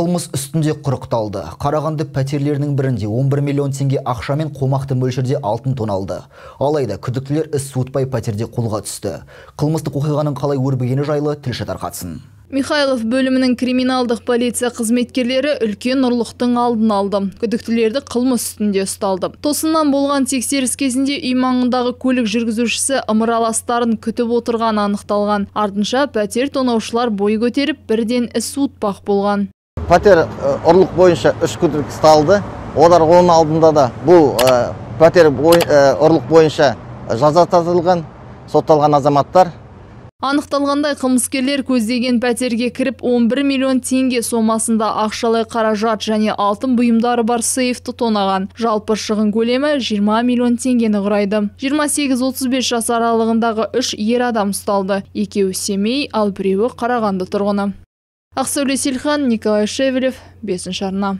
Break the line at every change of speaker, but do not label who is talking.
Қылмыс үстінде құрықталды. Қарағанды пәтерлерінің бірінде 11 миллион теңге ақшамен қомақты мөлшерде алтын тоналды. Алайда күдіктілер іс суытпай пәтерде қолға түсті. Қылмыстық оқиғаның қалай өрбігені жайлы тілші тарқатсын.
Михайлов бөлімінің криминалдық полиция қызметкерлері үлкен ұрлықтың алдын алды. Күдіктілерді қылмыс үстінде ұсталды. Тосыннан болған тексеріс кезінде үй маңындағы көлік жүргізушісі ымыраластарын күтіп отырған анықталған. Артынша пәтер тонаушылар бой көтеріп, бірден іс суытпақ болған.
Пәтер ұрлық бойынша 3 күдік ұсталды. Олар оның алдында да бұл пәтер ұрлық бойынша жаза тартылған, сотталған азаматтар.
Анықталғандай, қылмыскерлер көздеген пәтерге кіріп 11 миллион теңге сомасында ақшалай қаражат және алтын бұйымдары бар сейфті тонаған. Жалпы шығын көлемі 20 миллион теңгені құрайды. 28-35 жас аралығындағы 3 ер адам ұсталды. Екеуі Семей, ал біреуі Қарағанды тұрғыны. Ақсәуле Селхан, Николай Шевелев, 5 арна.